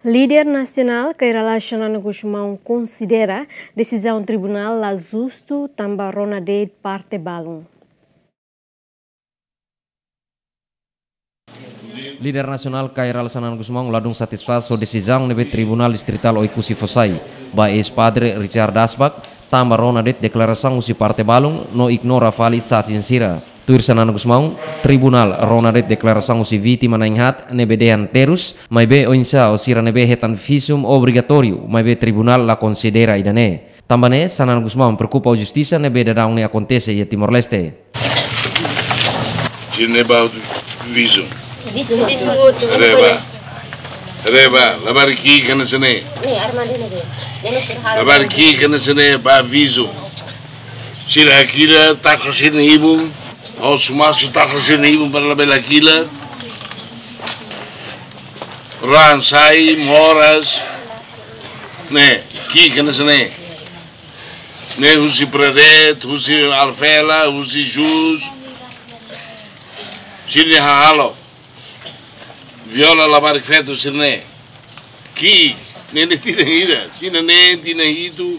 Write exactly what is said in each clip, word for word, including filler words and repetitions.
Líder nasionál Kay Rala Xanana Gusmão konsidera desizaun tribunál la justu tanba rona de'it parte balun. Líder nasionál Kay Rala Xanana Gusmão ladún satisfás ho desizaun ne'ebé Tribunál Distritál Oekusi fó sai ba eis-padre Richard Dasbak, tanba rona de'it deklarasaun husi parte balun no ignora fali sasin sira. Tuir Xanana Gusmão, tribunál rona de'it deklarasaun husi vítima na'in-haat ne'ebé dehan terus, maibé oinsá ho sira ne'ebé hetan visum obrigatóriu, maibé tribunál la konsidera ida-ne'e. Tanba ne'e, Xanana Gusmão preokupa ho justisa ne'ebé daudaun ne'e akontese iha Timor-Leste. Sira-ne'e ba visum. Visum. Reba. Reba, labarik ki'ik hanesan ne'e. Labarik ki'ik hanesan ne'e ba visum. Sira hakilar, taka sira-nia ibun. Ha'u sumasu taka sira-nia ibun para labele hakilar. Raan sai, moras. Ne'e, ki'ik hanesan ne'e. Ne'e husi Predet, husi Alfela, husi Jus. Sira-nia hahalok. Viola labarik feto sira-ne'e. Ki'ik, ne'e, ne'e tinan hira, tinan neen, tinan hitu.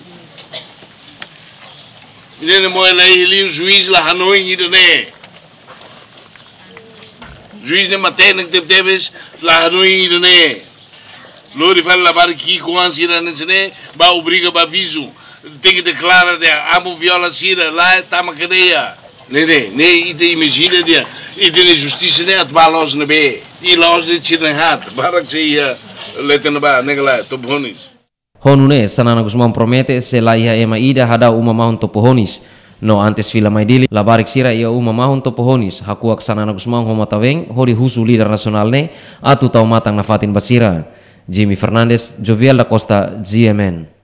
Ne'e, ne'e mós la iha liu, juís la hanoin ida-ne'e. Juís ne'e matenek tebetebes, la hanoin ida-ne'e. Lori fali labarik ki'ik-oan sira hanesan ne'e, ba obriga ba visum. Tenke deklara dehan amu viola sira, lae tama kadeia. Ne'e, ne'e, ne'e ita imajina dehan ita-nia justisa ne'e atu ba loos ne'ebé. I loos de'it sira na'in-haat, barak sei iha leten ba, ne'e ka lae, Topo Honis. Ho nune'e, Xanana Gusmão promete se la iha ema ida hadau uma mahon Topo Honis. No antes fila mai Dili, labarik sira iha uma mahon Topo Honis, hakuak Xanana Gusmão ho matan-been, hodi husu líder nasionál ne'e atu tau matan nafatin ba sira. Jimmy Fernandes, Jovial da Costa, G M N.